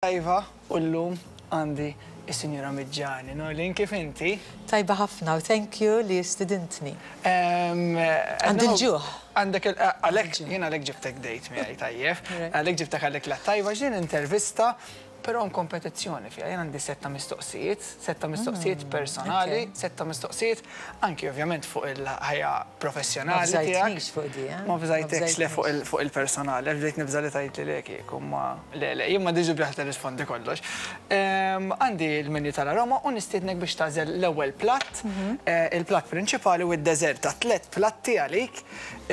Tajba u llum għandi is-Sinjura Miġġani. Norlin kif inti? Tajba ħafna u thank you li stidintni. Għandi l-ġuħ. Għandek għalhekk jien għalhekk ġibtek date miegħi tajjeb. Għalhekk ġibtek għalhekk la tajba x'din intervista però hemm kompetizzjoni fiha. Jien għandi setta mistoqsijiet, setta mistoqsijiet personali, setta mistoqsijiet anki ovvjament fuq il-ħajja professjonali tiegħek. Ma bżajtnix fuq di, eh? Ma bżajtekx le fuq il-personali, għax bdejt nibża' li tgħidli le kieku, imma le le, jien m'għandix dubju ħa tirrispondi kollox. Għandi l-menu tal-Aroma u nistiednek biex tagħżel l-ewwel platt, il-platt prinċipali u d-deżerta. Tlett platti għalik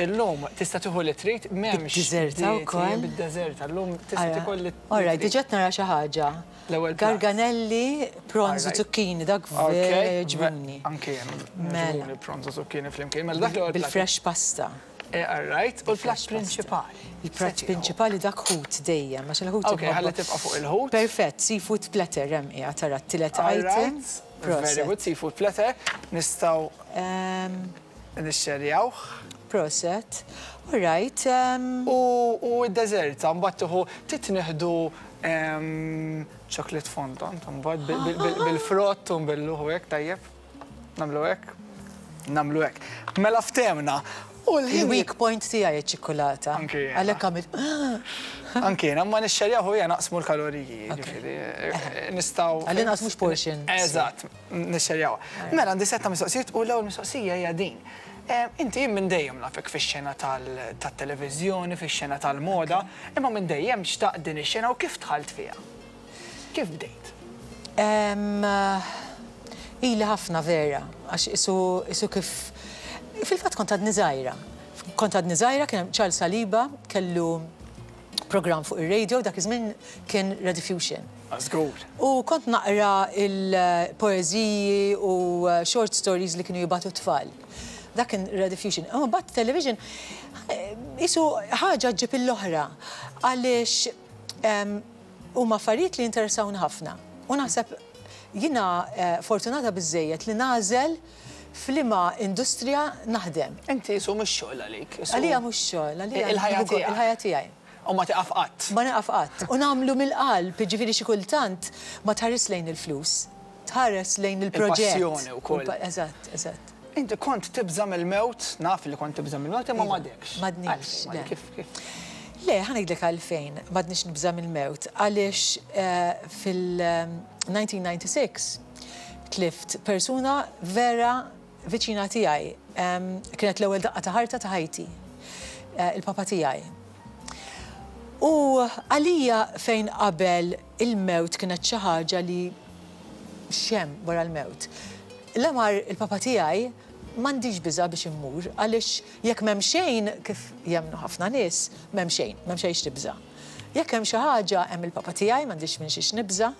illum tista' tieħu li trid, m'hemmx. Bid-deżerta wkoll? Bid-deżerta, llum tista' tiekol li trid. All right, diġà qed nara xi ħaġa. L-ewwel platt. Garganelli, prawns u zucchini, dak vera jogħġbuni. Anke jien jogħġbuni prawns u zucchini flimkien. Mela dak l-ewwel platt. Bil-fresh pasta. All right, u l-platt prinċipali. Il-platt prinċipali dak ħut dejjem, għax il-ħut. Ok, ħalli tibqa' fuq il-ħut. Perfett, seafood platter hemm qiegħed tara t-tielet item. Very good, seafood platter. Nistgħu nixxerjawh. Proset. All right. U d-deżerta mbagħad tieħu trid nieħdu chocolate fondant mbagħad bil-frott u nbilluh u hekk tajjeb. Nagħmlu hekk. Nagħmlu hekk. Mela ftehmna. U l-ħin. Il-weak point tiegħi ċ-ċikkulata. Anke jiena. Għalhekk għamilt. Anke jiena, imma nixxerjaw u hija naqsmu l-kaloriji, jiġifieri nistgħu. Għall-inqas mhux portion. Eżatt. Nixxerjawha. Mela għandi sett ta' mistoqsijiet u l-ewwel mistoqsija hija din. Inti jien minn dejjem nafek fix-xena tat-televiżjoni, fix-xena tal-moda, imma minn dejjem xtaqt din ix-xena u kif dħalt fiha? Kif bdejt? Ili ħafna vera, għax qisu qisu kif fil-fatt kont għadni żgħira. Kont għadni żgħira kien hemm Charles Saliba kellu programm fuq ir-radio dak iż-żmien kien Rediffusion. Żgur. U kont naqra l-poeżiji u short stories li kienu jibagħtu t-tfal. Dak kien Rediffusion. Imma mbagħad television qisu ħaġa ġġib l-oħra għaliex huma affarijiet li jinteressawni ħafna. U naħseb jiena fortunata biżżejjed li nagħżel f'liema industrija naħdem. Inti qisu mhux xogħol għalik. Għalija mhux xogħol, għalija Il-ħajja tiegħek. Il-ħajja tiegħi. U ma tieqaf qatt. Ma nieqaf qatt. U nagħmlu mill-qalb, jiġifieri xi kultant ma tħares lejn il-flus, tħares lejn il-proġett. Il-passjoni wkoll. Eżatt, eżatt. Inti kont tibża' mill-mewt, naf li kont tibża' mill-mewt imma m'għadekx. M'għadnix, le. Kif, kif? Le, ħa ngħidlek għalfejn m'għadnix nibża' mill-mewt. Għaliex fil-1996 tlift persuna vera viċina tiegħi. Kienet l-ewwel daqqa ta' ħarta ta' ħajti. Il-papa tiegħi. U għalija fejn qabel il-mewt kienet xi ħaġa li x'hemm wara l-mewt. La mar il-papa tiegħi m'għandix biża' biex immur għaliex jekk m'hemm xejn kif jemmnu ħafna nies, m'hemm xejn, m'hemm xejn x'tibża'. Jekk hemm xi ħaġa hemm il-papa tiegħi m'għandix minn xiex nibża'.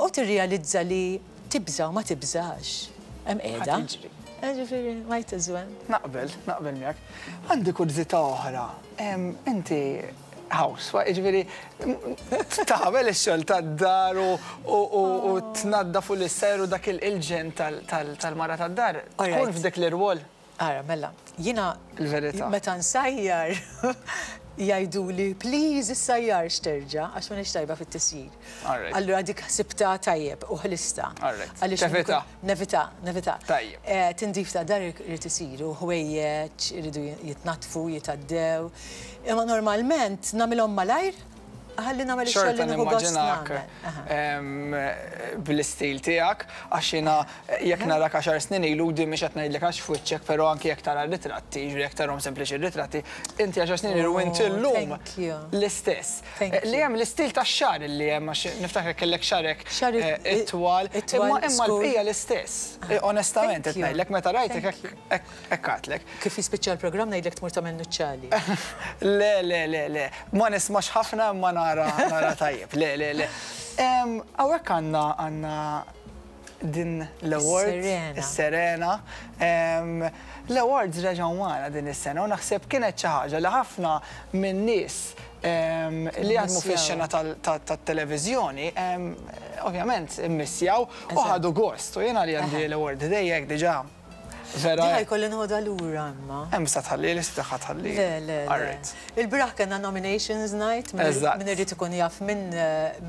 U tirrealizza li tibża' u ma tibżax, hemm qiegħda. Ħa tiġri. Ġifieri, might as well. Naqbel, naqbel miegħek. Għandi kurżità oħra. Inti housewife, jiġifieri tagħmel ix-xogħol tad-dar u tnaddaf u l-issajjar u dak il-ġenn tal-mara tad-dar. Tkun f'dik l-irwol? Ara, mela, jiena Il-verità. meta nsajjar jgħiduli please issajjarx terġa' għax m'iniex tajba fit-tisjir. All right. Allura dik ħsibtha tajjeb u ħlistha. All right. Għaliex Tevita. Nevita, nevita. Tajjeb. Tindif ta' dar irid isir u ħwejjeġ iridu jitnaddfu, jitgħaddew. Imma normalment nagħmilhom malajr ħalli nagħmel ix-xogħol Xorta li nieħu gost nimmaġinak nagħmel. bl-istil tiegħek għax jiena jekk narak għaxar snin ilu din mhix qed ngħidlek għax f'wiċċek però anki jekk tara r-ritratti, jiġifieri jekk tarahom sempliċi r-ritratti, inti għaxar snin ilu u inti Oh, llum thank you. l-istess. Thank Li you. hemm l-istil tax-xagħar li hemm għax niftakrek kellek xagħrek Xagħri itwal, itwal, imma imma skur. l-bqija l-istess. Onestament Thank qed you. ngħidlek meta rajtek Thank hekk you. hekk hekk għadtlek. Kif jispiċċa l-programm ngħidlek tmur tagħmel nuċċali. Le, le, le, le. Ma nismax ħafna imma nara nara tajjeb. Le, le, le. Hawnhekk għandna għandna din l-award. Is-Serena. Is-Serena. L-awards reġgħu magħna din is-sena u naħseb kienet xi ħaġa li ħafna minn nies li jaħdmu fix-xena tat-televiżjoni ovvjament immissjaw u ħadu gost. U jiena li għandi l-award ħdejja hekk diġà. Vera. Din ħa jkolli noħodha lura imma. Hemm sa tħalli li tagħha tħalli. Le, le. le. Il-bieraħ kellna nominations night, min irid ikun jaf min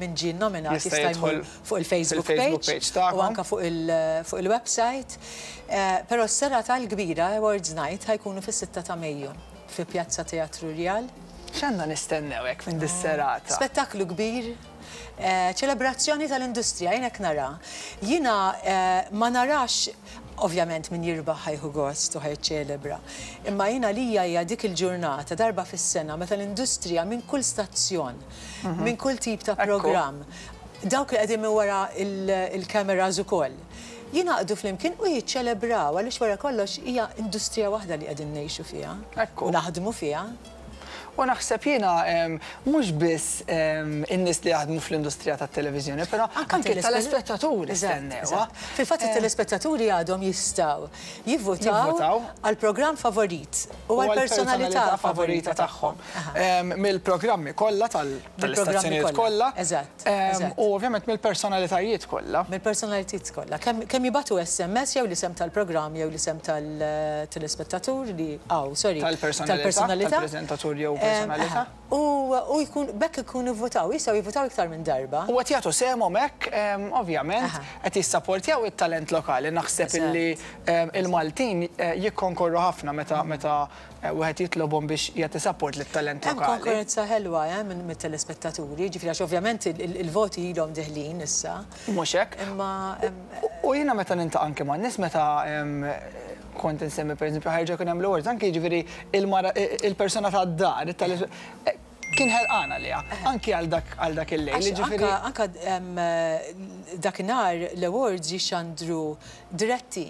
min ġie nominat jista' jmur fuq il-Facebook page u anke fuq il-website. Però s-serata l-kbira, Awards Night, ħa jkunu fis-sitta ta' Mejju fi Pjazza Teatru Rjal. X'għandna nistennew hekk minn dis-serata? Spettaklu kbir, ċelebrazzjoni tal-industrija, jien hekk nara. Jiena ma narax, ovvjament min jirbaħ ħa jieħu gost u ħa jiċċelebra, imma jien għalija hija dik il-ġurnata darba fis-sena meta l-industrija minn kull stazzjon, minn kull tip ta' programm, dawk li qegħdin minn wara l-cameras ukoll, jingħaqdu flimkien u jiċċelebraw għaliex wara kollox hija industrija waħda li qegħdin ngħixu fiha u naħdmu fiha. U naħseb jiena mhux biss in-nies li jaħdmu fl-industrija tat-televiżjoni, però anke t-telespettaturi stennewha. Fil-fatt it-telespettaturi għadhom jistgħu jivvutaw għall-programm favorit u għall-personalità favorita tagħhom. Mill-programmi kollha tal-istazzjonijiet kollha. Eżatt. U ovvjament mill-personalitajiet kollha. Mill-personalitajiet kollha. Kemm jibagħtu SMS jew l-isem tal-programm jew l-isem tal-telespettatur li aw, sorry. Tal-personalità. Tal-preżentatur jew personalità. U jkun b'hekk ikunu vvutaw, jistgħu jivvutaw iktar minn darba. U qed jagħtu sehemhom hekk, ovvjament, qed jissapportjaw it-talent lokali. Naħseb illi il-Maltin jikkonkorru ħafna meta meta wieħed jitlobhom biex jagħti support lit-talent lokali. Hemm konkurrenza ħelwa minn mit-telespettaturi, jiġifieri għax ovvjament il-voti ilhom deħlin issa. Mhux hekk? Imma U jiena meta niltaqa' anke man-nies meta kont insemmi pereżempju ħa jerġa' jkun hemm l-awards, anke jiġifieri il-mara il-persuna tad-dar, kien ħerqan għaliha, anki għal dak għal dak il-lejl, jiġifieri. Anke dakinhar l-awards jixxandru diretti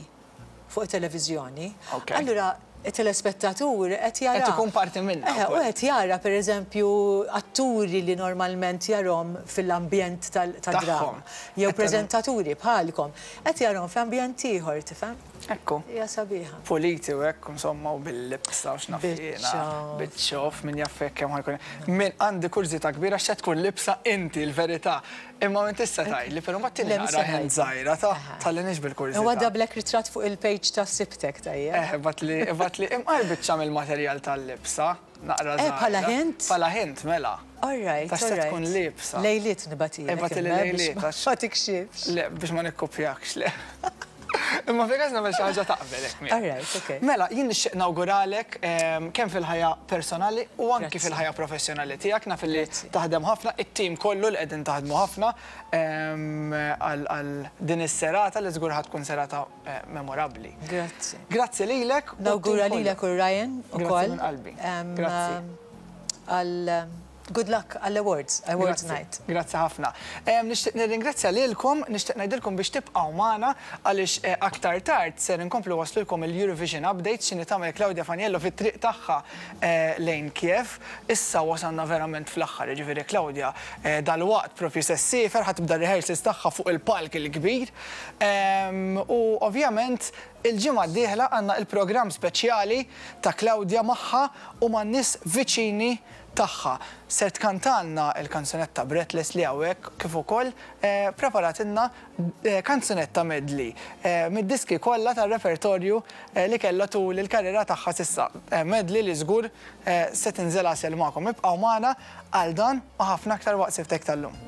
fuq it-televiżjoni. Allura it-telespettatur qed jara. Qed ikun parti minnha. Eħe, u qed jara pereżempju atturi li normalment jarhom fil-ambjent tad-drama. Jew preżentaturi bħalkom. Qed jarhom f'ambjent ieħor, tifhem? Ekku. Hija sabiħa. Puliti u hekk, insomma, u bil-libsa u x'naf jiena. Biċċa. Min jaf hekk kemm ħa jkun. Min għandi kurżità kbira x'se tkun libsa inti l-verità. Imma m'int tista' tgħidli, però mbagħad tieni naqra hint żgħira ta' tħallinix bil-kurżità. Inwaddablek ritratt fuq il-page ta' Sibtek tajjeb. Eh, ibgħatli, ibgħatli imqar biċċa mill-materjal tal-libsa, naqra żgħira. Eh, bħala hint? Bħala hint, mela. All right, all right. Ta' x'se tkun liebsa. Lejliet nibgħatilek. Ibgħatili lejliet għax. Ma tikxifx. Le, biex ma nikkupjakx, le. Imma fi każ nagħmel xi ħaġa taqbel hekk miegħi. All right, okay. Mela, jien nixtieq nawguralek kemm fil-ħajja personali u anki fil-ħajja professjonali tiegħek, naf li taħdem ħafna, it-tim kollu li qegħdin taħdmu ħafna għal din is-serata li żgur ħa tkun serata memorabbli. Grazzi. Grazzi lilek. Nawgura lilek u Ryan ukoll. Grazzi minn qalbi. Grazzi. Għal Good luck għall-awards, awards night. Grazzi ħafna. Nixtieq nirringrazzja lilkom, nixtieq ngħidilkom biex tibqgħu magħna għaliex aktar tard ser inkomplu nwasslulkom il-Eurovision Updates x'inhi tagħmel Claudia Faniello fit-triq tagħha lejn Kiev. Issa wasalna verament fl-aħħar, jiġifieri Claudia dalwaqt propju se ssiefer, ħa tibda r-rehearsals tagħha fuq il-palk il-kbir. U ovvjament il-ġimgħa d-dieħla għandna il-programm speċjali ta' Claudia magħha u man-nies viċini tagħha. Ser tkantalna l-kanzunetta Breathless li hawnhekk kif ukoll preparatilna kanzunetta medley mid-diski kollha tar-repertorju li kellha tul il-karriera tagħha s'issa. Medley li żgur se tinżel għasel magħkom. Ibqgħu magħna għal dan u ħafna aktar waqt Sibtek tal-lum.